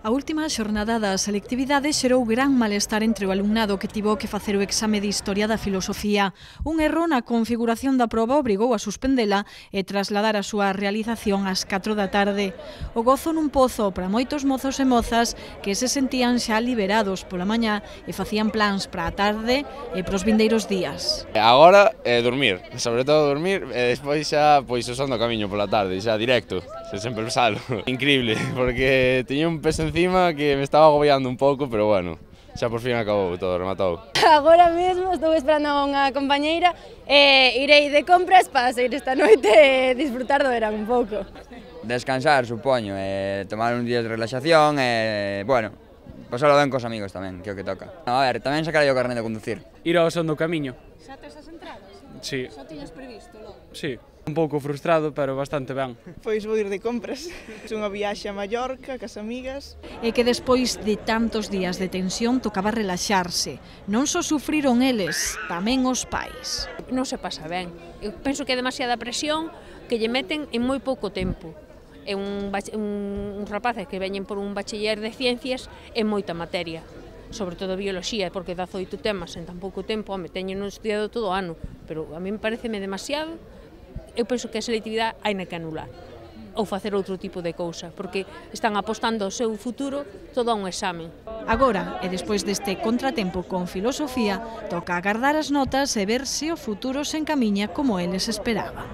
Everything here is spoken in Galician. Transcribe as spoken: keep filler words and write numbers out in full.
A última xornada da selectividade xerou gran malestar entre o alumnado que tivo que facer o exame de Historia da Filosofía. Un erro na configuración da proba obrigou a suspendela e trasladar a súa realización ás catro da tarde. O gozo nun pozo para moitos mozos e mozas que se sentían xa liberados pola mañá e facían plans para a tarde e pros vindeiros días. Agora, eh, dormir, sobre todo dormir, e despois xa pois usando o camiño pola tarde, xa directo, se sempre salo. Increíble, porque tiña un peso encima que me estaba agobiando un pouco, pero bueno, xa por fin acabou todo, rematou. Agora mesmo estou esperando a unha compañeira e irei de compras para sair esta noite e disfrutar do verán un pouco. Descansar, supoño, e tomar un día de relaxación e, bueno, pasalo ben cos amigos tamén, que é o que toca. A ver, tamén sacarei o carné de conducir. Ir ao son do camiño. Xa tes as entradas? Sí. Xa tiñas previsto logo? Sí. Un pouco frustrado, pero bastante ben. Pois vou ir de compras. Unha viaxe a Mallorca, cas amigas. E que despois de tantos días de tensión tocaba relaxarse. Non só sufriron eles, tamén os pais. Non se pasa ben. Eu penso que é demasiada presión que lle meten en moi pouco tempo. É un, un, un rapaces que veñen por un bachiller de ciencias en moita materia. Sobre todo bioloxía, porque dezaoito temas en tan pouco tempo, home, teñen estudiado todo o ano, pero a mí me pareceme demasiado. Eu penso que a selectividade hai que anular ou facer outro tipo de cousa, porque están apostando o seu futuro todo a un exame. Agora, e despois deste contratempo con filosofía, toca agardar as notas e ver se o futuro se encamiña como eles esperaban.